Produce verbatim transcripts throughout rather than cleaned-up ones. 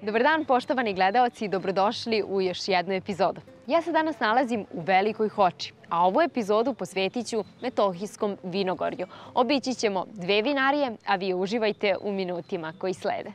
Dobar dan, poštovani gledaoci, i dobrodošli u još jednu epizodu. Ja se danas nalazim u Velikoj Hoči, a ovu epizodu posvetit ću Metohijskom vinogorju. Obići ćemo dve vinarije, a vi uživajte u minutima koji slede.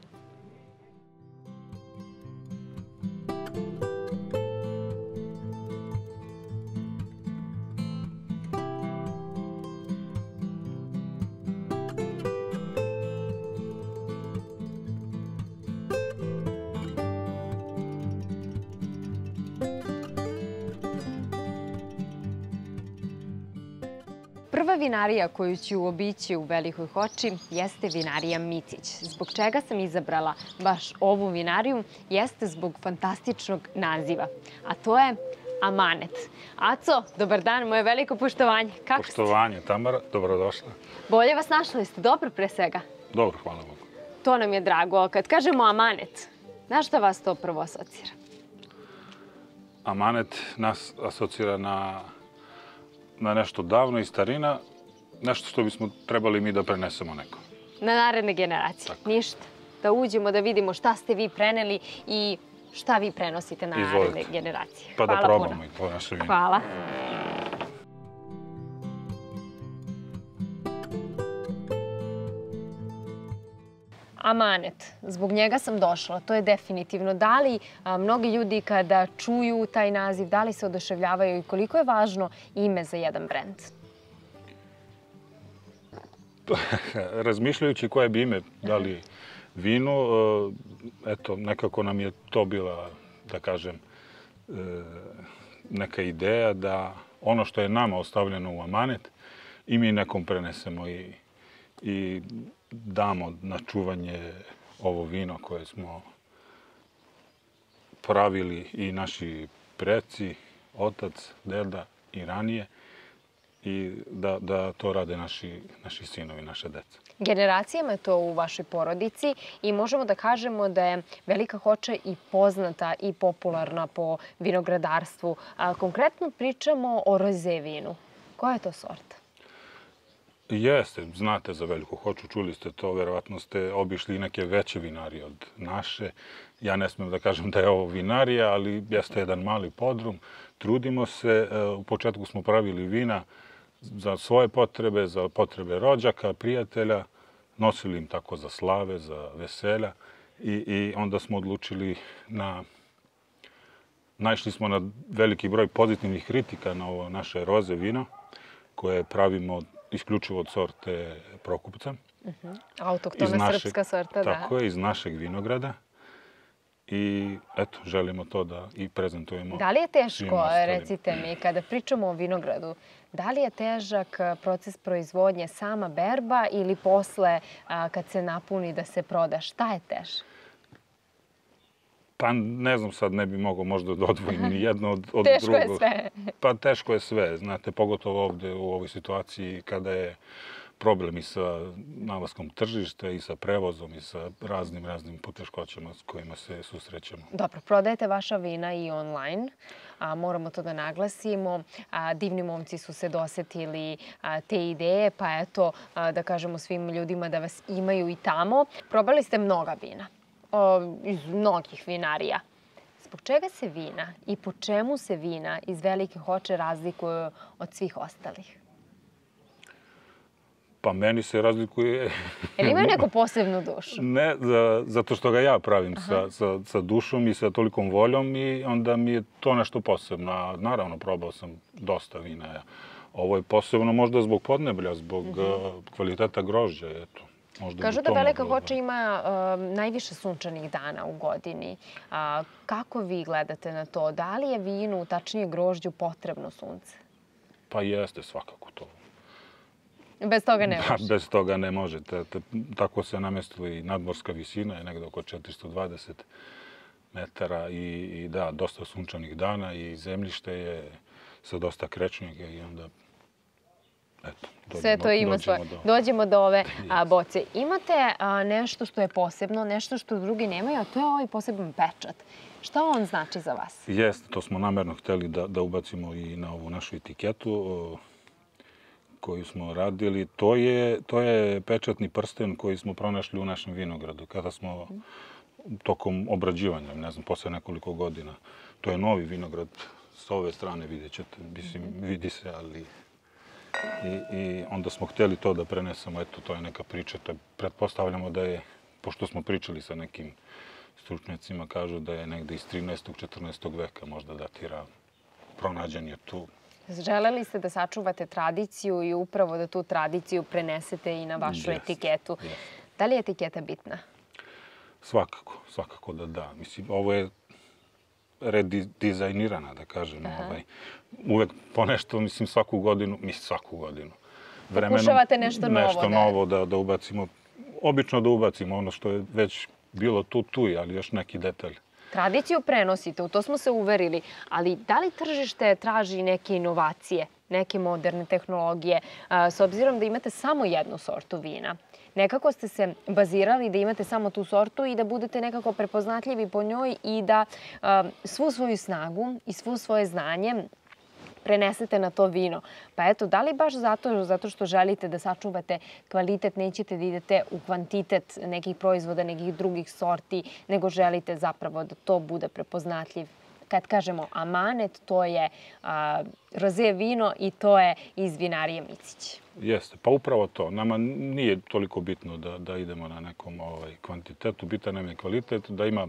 Prva vinarija koju ću obići u Velikoj Hoči jeste vinarija Micić. Zbog čega sam izabrala baš ovu vinariju jeste zbog fantastičnog naziva, a to je Amanet. Aco, dobar dan, moje veliko poštovanje. Kako ste? Poštovanje, Tamara, dobrodošla. Bolje vas našla, jeste dobro pre svega? Dobro, hvala Bogu. To nam je drago. Kad kažemo Amanet, na šta vas to prvo asocira? Amanet nas asocira na na nešto davno i starina, nešto što bismo trebali mi da prenesemo nekom. Na naredne generacije. Tako. Ništa. Da uđemo, da vidimo šta ste vi preneli i šta vi prenosite na Izvolite. naredne generacije. Pa Hvala da probamo puno. i to naše vino. Hvala. Amanet, zbog njega sam došla, to je definitivno. Da li a, mnogi ljudi kada čuju taj naziv, da li se oduševljavaju i koliko je važno ime za jedan brend? Razmišljajući koje bi ime dali vinu, eto, nekako nam je to bila, da kažem, neka ideja da ono što je nama ostavljeno u amanet i mi nekom prenesemo i, i damo na čuvanje ovo vino koje smo pravili i naši preci, otac, deda i ranije, i da, da to rade naši, naši sinovi, naše deca. Generacijama je to u vašoj porodici i možemo da kažemo da je Velika Hoča i poznata i popularna po vinogradarstvu. A, konkretno pričamo o roze vinu. Koja je to sorta? Jeste, znate za Veliku Hoču, čuli ste to, verovatno ste obišli i neke veće vinarije od naše. Ja ne smijem da kažem da je ovo vinarija, ali jeste jedan mali podrum. Trudimo se, u početku smo pravili vina za svoje potrebe, za potrebe rođaka, prijatelja, nosili im tako za slave, za veselja i, i onda smo odlučili na... Naišli smo na veliki broj pozitivnih kritika na ovo naše roze vino, koje pravimo isključivo od sorte Prokupca. Uh-huh. Autoktona srpska sorta, da. Tako je, iz našeg vinograda. I eto, želimo to da i prezentujemo. Da li je teško, recite mi, kada pričamo o vinogradu, da li je težak proces proizvodnje, sama berba ili posle kad se napuni da se proda? Šta je teže? Pa ne znam, sad ne bi mogao možda da odvojim ni jedno od, od teško drugog. Teško je sve. Pa teško je sve, znate, pogotovo ovde u ovoj situaciji kada je problem i sa nalaskom tržišta i sa prevozom i sa raznim, raznim poteškoćama s kojima se susrećemo. Dobro, prodajete vaša vina i online. A, moramo to da naglasimo. A, divni momci su se dosetili a, te ideje, pa eto, a, da kažemo svim ljudima da vas imaju i tamo. Probali ste mnoga vina. O, iz mnogih vinarija. Zbog čega se vina i po čemu se vina iz Velike Hoče razlikuju od svih ostalih? Pa meni se razlikuje... Jel imaju neku posebnu dušu? Ne, za, zato što ga ja pravim sa, sa, sa dušom i sa tolikom voljom i onda mi je to nešto posebno. A naravno, probao sam dosta vina. Ja. Ovo je posebno možda zbog podneblja, zbog uh-huh. kvaliteta grožđa. Eto. Možda Kažu da Velika Hoča ima uh, najviše sunčanih dana u godini. Uh, kako vi gledate na to? Da li je vinu, tačnije grožđu, potrebno sunce? Pa jeste svakako to. Bez toga ne može? Bez toga ne može. Tako se namestila i nadmorska visina, je negde oko četiristo dvadeset metara i, i da, dosta sunčanih dana i zemljište je sa dosta krečnjega i onda... Eto, dođemo, sve to ima svoje. Do... Dođemo do ove a, boce. Imate a, nešto što je posebno, nešto što drugi nemaju, a to je ovaj poseban pečat. Šta on znači za vas? Jeste, to smo namerno hteli da, da ubacimo i na ovu našu etiketu o, koju smo radili. To je, to je pečatni prsten koji smo pronašli u našem vinogradu. Kada smo tokom obrađivanja, ne znam, posle nekoliko godina. To je novi vinograd, s ove strane vidjet ćete, mislim, vidi se, ali... I, I onda smo htjeli to da prenesemo, eto, to je neka priča. Pretpostavljamo da je, pošto smo pričali sa nekim stručnjacima, kažu da je negde iz trinaestog četrnaestog veka možda datira, pronađen je tu. Želeli ste da sačuvate tradiciju i upravo da tu tradiciju prenesete i na vašu Jest, etiketu. jest. Da li je etiketa bitna? Svakako, svakako da da. Mislim, ovo je redizajnirana, da kažem. Ovaj. Uvek ponešto, mislim, svaku godinu, mislim, svaku godinu. Vremenom, pokušavate nešto novo. Nešto novo da, da ubacimo. Obično da ubacimo ono što je već bilo tu, tu, ali još neki detalj. Tradiciju prenosite, u to smo se uverili, ali da li tržište traži neke inovacije, neke moderne tehnologije, s obzirom da imate samo jednu sortu vina? Nekako ste se bazirali da imate samo tu sortu i da budete nekako prepoznatljivi po njoj i da svu svoju snagu i svu svoje znanje prenesete na to vino. Pa eto, da li baš zato, zato što želite da sačuvate kvalitet, nećete da idete u kvantitet nekih proizvoda, nekih drugih sorti, nego želite zapravo da to bude prepoznatljiv? Kad kažemo amanet, to je a, roze vino i to je iz vinarije Micić. Jeste, pa upravo to. Nama nije toliko bitno da, da idemo na nekom ovaj, kvantitetu, bitan nam je kvalitet, da ima,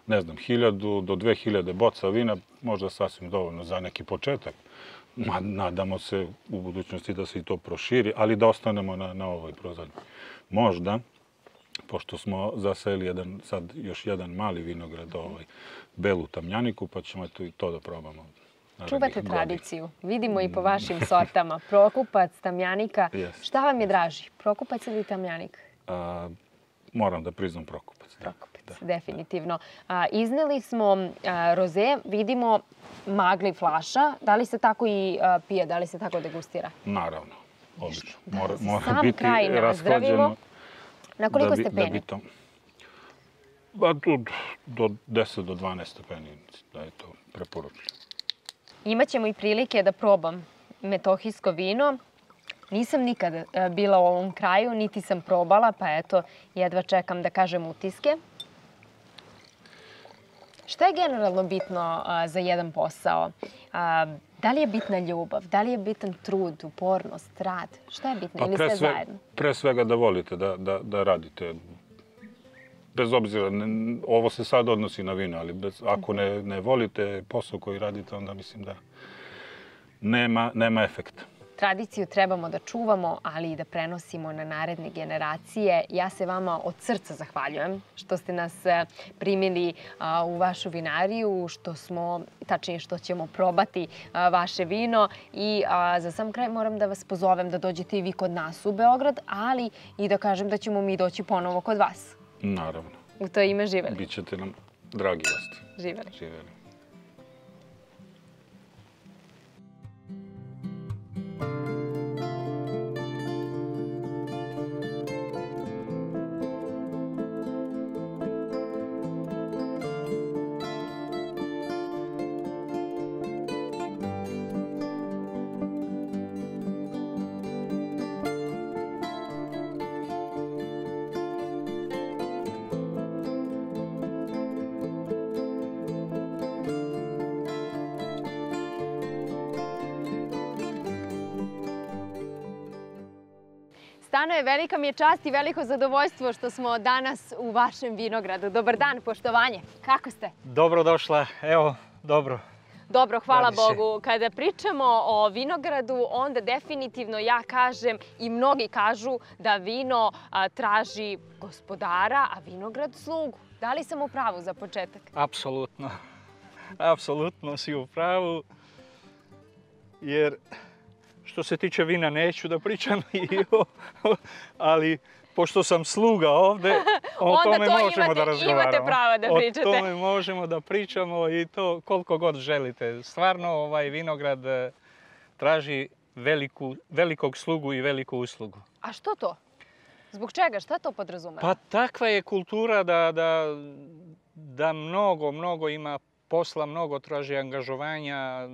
ne znam, hiljadu do dve hiljade boca vina, možda sasvim dovoljno za neki početak. Nadamo se u budućnosti da se i to proširi, ali da ostanemo na, na ovoj prozadnji. Možda, pošto smo zaseli jedan, sad još jedan mali vinograd, ovaj, belu tamjaniku, pa ćemo to, i to da probamo. Čuvate tradiciju. Vidimo i po vašim sortama. Prokupac, tamjanika. Yes. Šta vam je draži? Prokupac ili tamjanik? A, moram da priznam prokupac. Prokupac, da, definitivno. A, izneli smo a, roze, vidimo magli flaša. Da li se tako i a, pije, da li se tako degustira? Naravno, obično. Mora, da, mora sam biti kraj nazdravimo. Na koliko da bi, stepeni? Da bi to, ba, do, do deset do dvanaest stepeni, da je to preporučeno. Imaćemo i prilike da probam metohijsko vino. Nisam nikada bila u ovom kraju, niti sam probala, pa eto, jedva čekam da kažem utiske. Šta je generalno bitno a, za jedan posao? A, da li je bitna ljubav? Da li je bitan trud, upornost, rad? Šta je bitno? Pa ili pre sve sve, zajedno? Pre svega da volite, da, da, da radite. Bez obzira, ne, ovo se sad odnosi na vino, ali bez, ako ne, ne volite posao koji radite, onda mislim da nema, nema efekta. Tradiciju trebamo da čuvamo, ali i da prenosimo na naredne generacije. Ja se vama od srca zahvaljujem što ste nas primili u vašu vinariju, što smo, tačnije što ćemo probati vaše vino. I za sam kraj moram da vas pozovem da dođete i vi kod nas u Beograd, ali i da kažem da ćemo mi doći ponovo kod vas. Naravno. U to ime živeli. Bićete nam dragi gosti. Živeli. Živeli. Stano je, velika mi je čast i veliko zadovoljstvo što smo danas u vašem vinogradu. Dobar dan, poštovanje. Kako ste? Dobro došla, evo, dobro. Dobro, hvala Bogu. Kada pričamo o vinogradu, onda definitivno ja kažem i mnogi kažu da vino a, traži gospodara, a vinograd slugu. Da li sam u pravu za početak? Apsolutno. Apsolutno si u pravu. Jer što se tiče vina neću da pričam, ali pošto sam sluga ovde, o tome možemo da razgovaramo. Imate pravo da pričate. O tome možemo da pričamo i to koliko god želite. Stvarno ovaj vinograd traži veliku, velikog slugu i veliku uslugu. A što to? Zbog čega? Šta to podrazumeva? Pa takva je kultura da, da, da mnogo, mnogo ima posla, mnogo traži angažovanja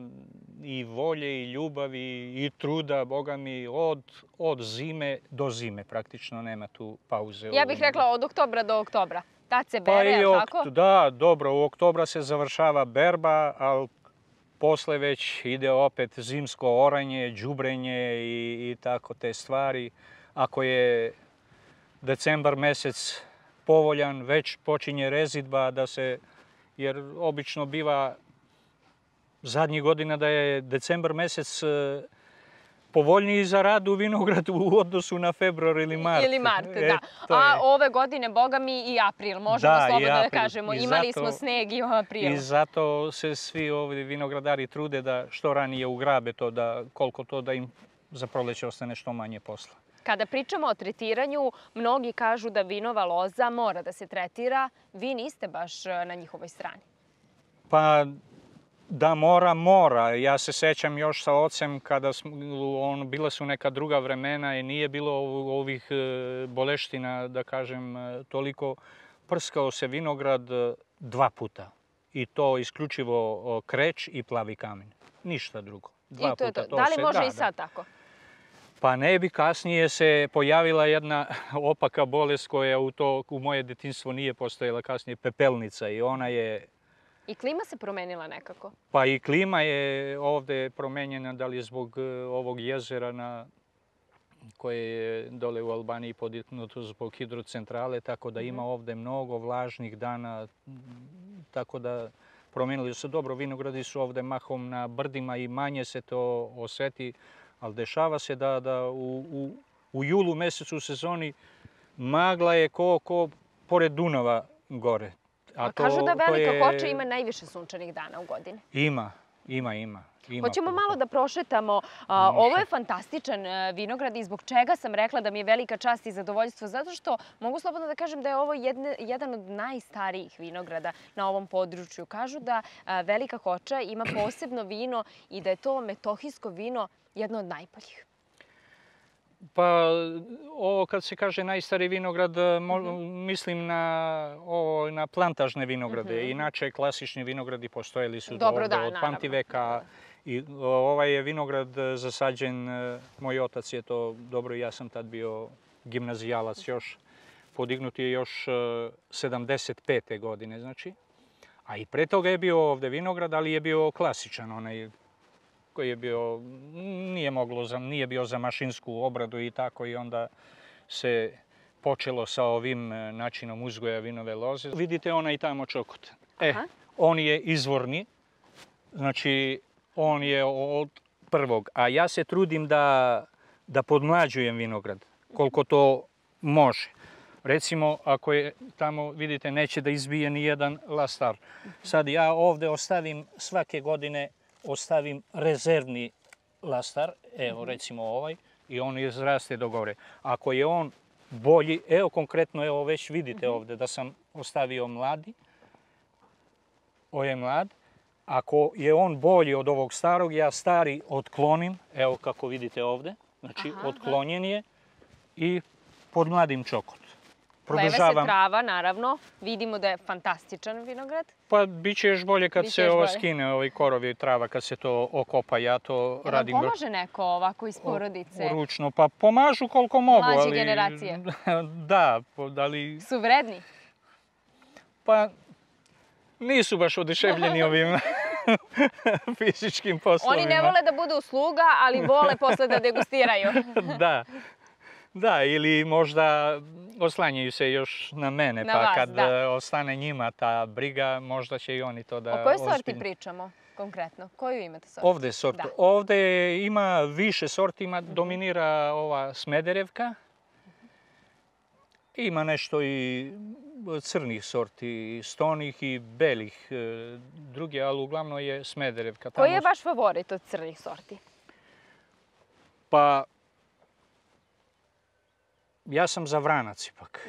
i volje i ljubavi i truda, Boga mi, od, od zime do zime. Praktično nema tu pauze. Ja bih rekla od oktobra do oktobra. Tad se Pa bere, i je li tako? Da, dobro, u oktobra se završava berba, ali posle već ide opet zimsko oranje, đubrenje i, i tako te stvari. Ako je decembar mesec povoljan, već počinje rezidba da se, jer obično biva zadnjih godina da je decembar mesec povoljniji za rad u vinogradu u odnosu na februar ili mart. Ili mart, E, da. A ove godine, boga mi, i april. Možemo Da, i slobodno da april. kažemo. I Imali zato- smo sneg i u aprilu. I zato se svi ovi vinogradari trude da što ranije ugrabe to, da koliko to da im za proleće ostane što manje posla. Kada pričamo o tretiranju, mnogi kažu da vinova loza mora da se tretira. Vi niste baš na njihovoj strani. Pa da mora, mora. Ja se sećam još sa ocem kada smo, on, bila su neka druga vremena i nije bilo ovih e, boleština, da kažem, e, toliko. Prskao se vinograd e, dva puta. I to isključivo o, kreć i plavi kamen. Ništa drugo. Dva I to je puta. to. Da li se- može da, i da. sad tako? Pa ne bi, kasnije se pojavila jedna opaka bolest koja u, to, u moje detinjstvo nije postojala, kasnije pepelnica, i ona je, I klima se promenila nekako. pa i klima je ovde promenjena, da li je zbog e, ovog jezera na, koje je dole u Albaniji podignuto zbog hidrocentrale, tako da ima ovde mnogo vlažnih dana, m, tako da promenili su. Dobro, vinogradi su ovde mahom na brdima i manje se to oseti, ali dešava se da, da u, u, u julu mesecu u sezoni magla je ko, ko pored Dunava gore. A, kažu da to Velika je- Hoča ima najviše sunčanih dana u godini. Ima, ima, ima. ima Hoćemo puno. malo da prošetamo. A, ovo je fantastičan e, vinograd i zbog čega sam rekla da mi je velika čast i zadovoljstvo. Zato što mogu slobodno da kažem da je ovo jedne, jedan od najstarijih vinograda na ovom području. Kažu da a, Velika Hoča ima posebno vino i da je to metohijsko vino jedno od najboljih. Pa ovo kad se kaže najstariji vinograd, mo- mislim na, ovo, na plantažne vinograde. Inače, klasični vinogradi postojali su Dobro, ovde da, od naravno. pamtiveka. I ovaj je vinograd zasađen, e, moj otac je to, dobro, ja sam tad bio gimnazijalac još, podignut je još e, sedamdeset pete godine, znači. A i pre toga je bio ovde vinograd, ali je bio klasičan, onaj koji je bio, nije moglo, za, nije bio za mašinsku obradu i tako, i onda se počelo sa ovim e, načinom uzgoja vinove loze. Vidite onaj tamo čokot. E, Aha. on je izvorni, znači on je od prvog, a ja se trudim da, da podmlađujem vinograd, koliko to može. Recimo, ako je tamo, vidite, neće da izbije ni jedan lastar. Sad ja ovde ostavim svake godine, ostavim rezervni lastar, evo recimo ovaj, i on izraste do gore. Ako je on bolji, evo konkretno, evo već vidite ovde da sam ostavio mladi, ovo je mlad. Ako je on bolji od ovog starog, ja stari otklonim, evo kako vidite ovde, znači Aha, otklonjen je, i podmladim čokot. Pleve se Produžavam, trava, naravno. Vidimo da je fantastičan vinograd. pa bit će još bolje kad Biće se još ovo bolje. skine, ovaj korovi i trava, kad se to okopa. Ja to Jel vam radim pomaže neko ovako iz porodice? ručno, pa pomažu koliko mogu, Mlađe ali... generacije. Da, po- ali Su vredni? pa nisu baš oduševljeni ovim fizičkim poslovima. Oni ne vole da budu sluga, ali vole posle da degustiraju. Da, da, ili možda oslanjaju se još na mene, Na pa vas, kad da. e, ostane njima ta briga, možda će i oni to da... O kojoj sorti ozbiljno- pričamo konkretno? Koju imate sortu? Ovde sortu. Da. Ovde ima više sorti, ima, dominira ova Smederevka. Ima nešto i crnih sorti, stonih i belih e, druge, ali uglavnom je Smederevka. Koji je Tamo- vaš favorit od crnih sorti? Pa, ja sam za Vranac ipak.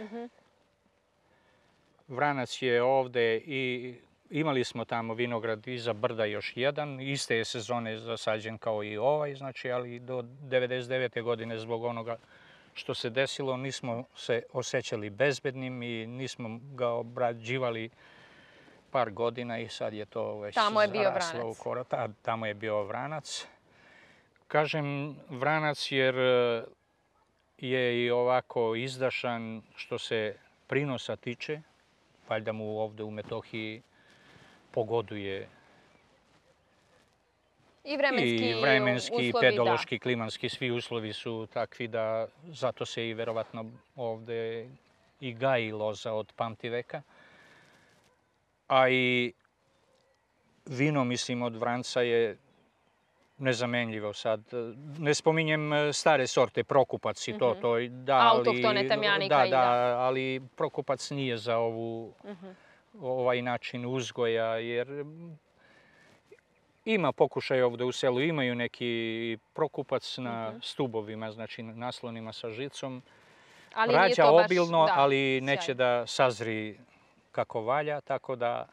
Vranac je ovde i imali smo tamo vinograd iza brda još jedan. Iste je sezone zasađen kao i ovaj, znači, ali do devedeset devete godine zbog onoga što se desilo nismo se osjećali bezbednim i nismo ga obrađivali par godina i sad je to već Tamo je bio zaraslo Vranac. u korak. Ta- Tamo je bio Vranac. Kažem Vranac jer e, je i ovako izdašan što se prinosa tiče. valjda mu ovdje u Metohiji pogoduje I vremenski, i vremenski, uslovi, pedološki, klimatski, svi uslovi su takvi da zato se i verovatno ovdje i gaji loza od pamtiveka. A i vino, mislim, od Vranca je nezamenljivo sad. Ne spominjem stare sorte, Prokupac i to, Mhm. to da, ali... Autohtone Tamjanika da, i da, da. ali Prokupac nije za ovu, Mhm. ovaj način uzgoja, jer ima pokušaj ovdje u selu, imaju neki Prokupac na Mhm. stubovima, znači naslonima sa žicom. Ali nije Rađa to baš, obilno, da, ali neće sjajno. da sazri kako valja, tako da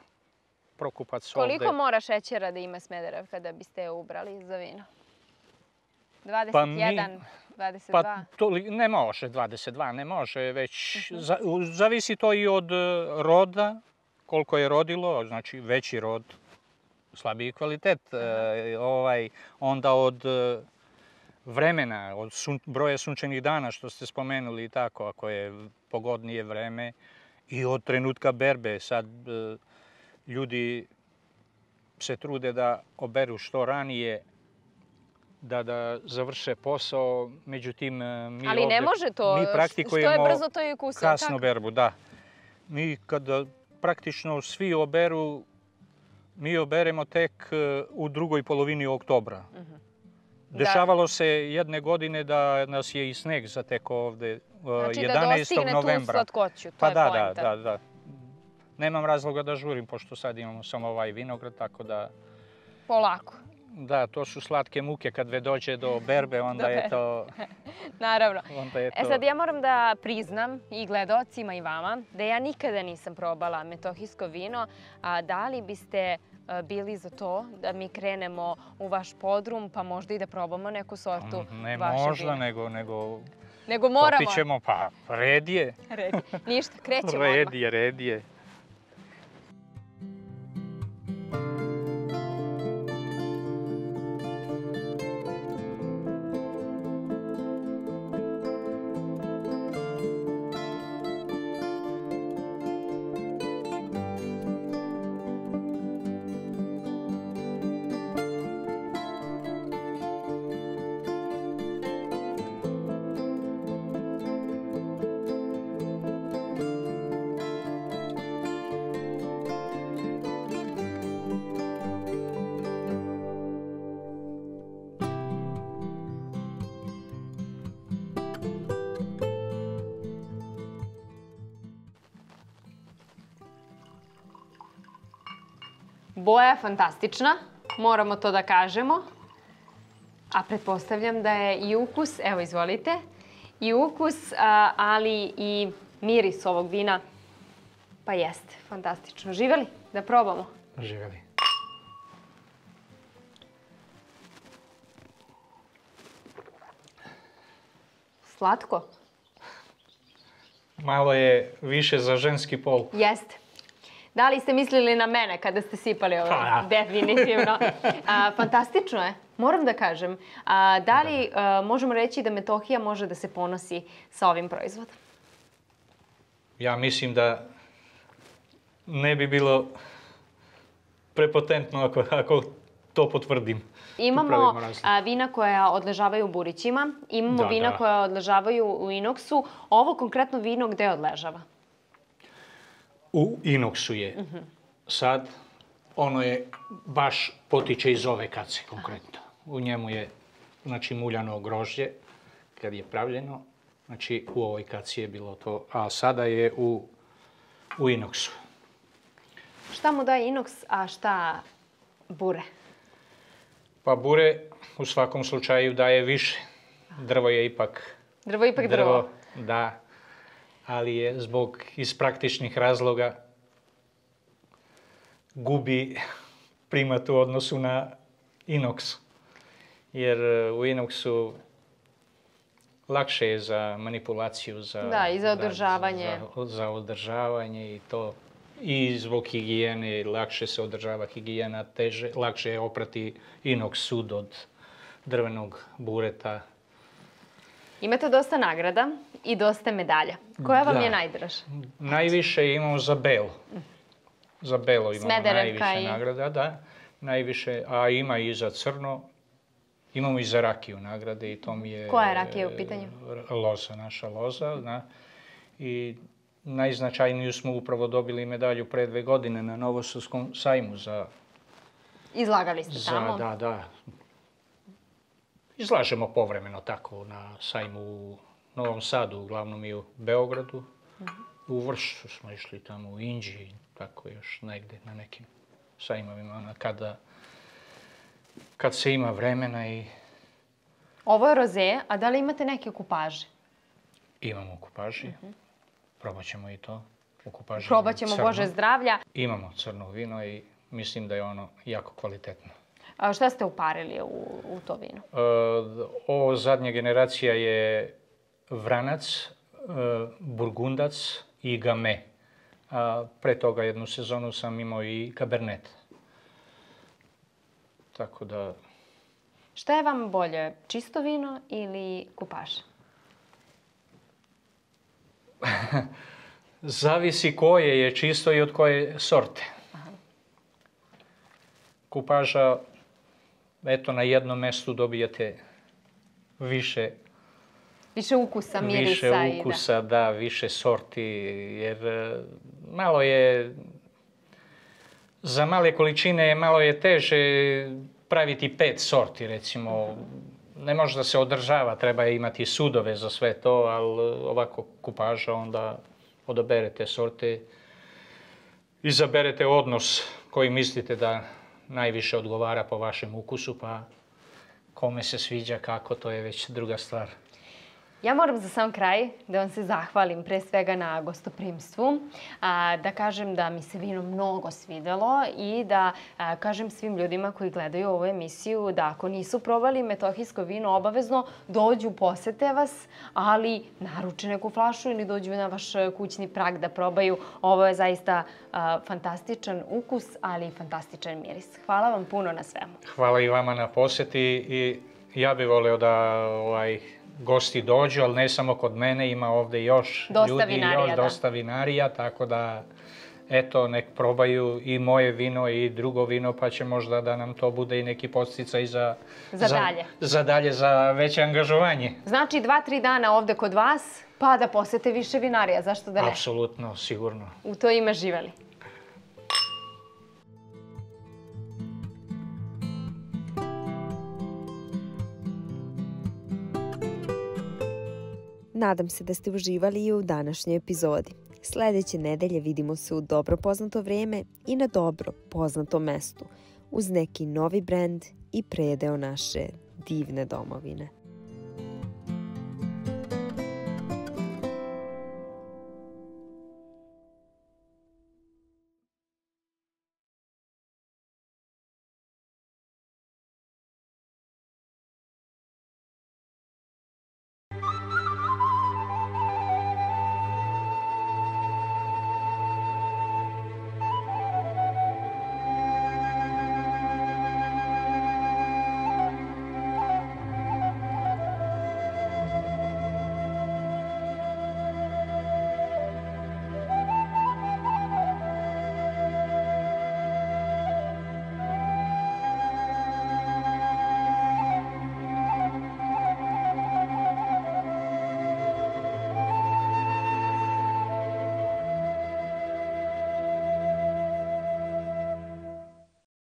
Prokupac ovdje... Koliko mora šećera da ima Smederevka da biste je ubrali za vino? dvadeset jedan, mi- dvadeset Pa dva? to li- ne može dvadeset dva, ne može, već Mhm. za- u- zavisi to i od e, roda, koliko je rodilo, znači veći rod, slabiji kvalitet, e, ovaj, onda od e, vremena, od sun- broja sunčanih dana što ste spomenuli i tako, ako je pogodnije vreme, i od trenutka berbe. Sad e, ljudi se trude da oberu što ranije, da, da završe posao, međutim e, mi Ali ne ovdje- može to, mi što je praktikujemo brzo to i ukusno. kasnu tako? berbu, da. Mi kada praktično svi oberu, mi oberemo tek e, u drugoj polovini oktobra. Mhm. Dešavalo se jedne godine da nas je i sneg zatekao ovdje e, Znači da jedanaestog dostigne tu novembra. slatkoću, to Pa je da, da, poenta. da, da. Nemam razloga da žurim, pošto sad imamo samo ovaj vinograd, tako da... Polako, Da, to su slatke muke kad ve dođe do berbe, onda Do je berbe. to... naravno. Onda je E to... sad ja moram da priznam i gledocima i vama da ja nikada nisam probala metohijsko vino. A da li biste a, bili za to da mi krenemo u vaš podrum pa možda i da probamo neku sortu Ne vašeg možda, vina? nego, nego Nego moramo. popit ćemo, pa red je. Red. Ništa, krećemo Red odmah. je, red je. Boja je fantastična, moramo to da kažemo. A pretpostavljam da je i ukus, evo izvolite, i ukus, a, ali i miris ovog vina, pa jeste, fantastično. Živeli? Da probamo. Živeli. Slatko? Malo je više za ženski pol. Jeste. Da li ste mislili na mene kada ste sipali ovo? Pa, da. Definitivno. A, fantastično je, moram da kažem. A, da li a, možemo reći da Metohija može da se ponosi sa ovim proizvodom? Ja mislim da ne bi bilo prepotentno ako, ako to potvrdim. Imamo Pravimo razliku. a, vina koja odležavaju u burićima, imamo Da, vina da. koja odležavaju u inoksu. Ovo konkretno vino gde odležava? U inoksu je. Sad, ono je baš potiče iz ove kace konkretno. U njemu je, znači, muljano grožđe kad je pravljeno. Znači, u ovoj kaci je bilo to, a sada je u, u inoksu. Šta mu daje inoks, a šta bure? Pa bure u svakom slučaju daje više. Drvo je ipak Drvo ipak drvo. Da, ali je zbog iz praktičnih razloga gubi primat u odnosu na inoks. Jer u inoksu lakše je za manipulaciju, za, Da, i za održavanje. za, za održavanje i to. I zbog higijene lakše se održava higijena, teže, lakše je oprati inoks sud od drvenog bureta. Imate dosta nagrada i dosta medalja. Koja vam Da. je najdraža? Najviše imamo za Belo. Za Belo imamo Smederevka najviše i- nagrada, da. Najviše, a ima i za Crno. Imamo i za rakiju nagrade i to mi je... Koja je rakija u pitanju? e, Loza, naša loza, da. I najznačajniju smo upravo dobili medalju pre dve godine na Novosadskom sajmu za... Izlagali ste za tamo. da, da. Izlažemo povremeno tako na sajmu u Novom Sadu, uglavnom i u Beogradu. U Vršcu smo išli tamo, u Inđiji, tako još negde na nekim sajmovima, ono, kada, kad se ima vremena i Ovo je roze, a da li imate neke kupaže? imamo kupaži. Probat ćemo i to. U kupaži Probat ćemo, crno. Bože zdravlja. Imamo crno vino i mislim da je ono jako kvalitetno. A šta ste uparili u, u to vino? E, ovo zadnja generacija je Vranac, e, Burgundac i Game. A pre toga jednu sezonu sam imao i Cabernet. Tako da, Šta je vam bolje, čisto vino ili kupaže? zavisi koje je čisto i od koje sorte. Kupaža, eto, na jednom mestu dobijete više Više ukusa, mirisa više i da. ukusa, da, više sorti, jer e, malo je, za male količine malo je teže praviti pet sorti, recimo. Ne može da se održava, treba imati sudove za sve to, ali ovako kupaža, onda odaberete sorte, izaberete odnos koji mislite da najviše odgovara po vašem ukusu, pa kome se sviđa kako, to je već druga stvar. Ja moram za sam kraj da vam se zahvalim pre svega na gostoprimstvu, a, da kažem da mi se vino mnogo svidelo i da a, kažem svim ljudima koji gledaju ovu emisiju da ako nisu probali metohijsko vino, obavezno dođu, posete vas, ali naruče neku flašu ili dođu na vaš kućni prag da probaju. Ovo je zaista a, fantastičan ukus, ali i fantastičan miris. Hvala vam puno na svemu. Hvala i vama na posjeti i ja bih volio da ovaj, gosti dođu, ali ne samo kod mene, ima ovdje još Dosta ljudi, vinarija, još da. dosta vinarija, tako da eto, nek probaju i moje vino i drugo vino, pa će možda da nam to bude i neki podsticaj za, Za dalje. za dalje, za veće angažovanje. Znači, dva, tri dana ovde kod vas, pa da posete više vinarija. Zašto da ne? Apsolutno, sigurno. U to ime živeli. Nadam se da ste uživali i u današnjoj epizodi. Sljedeće nedelje vidimo se u dobro poznato vrijeme i na dobro poznatom mestu, uz neki novi brend i predeo naše divne domovine.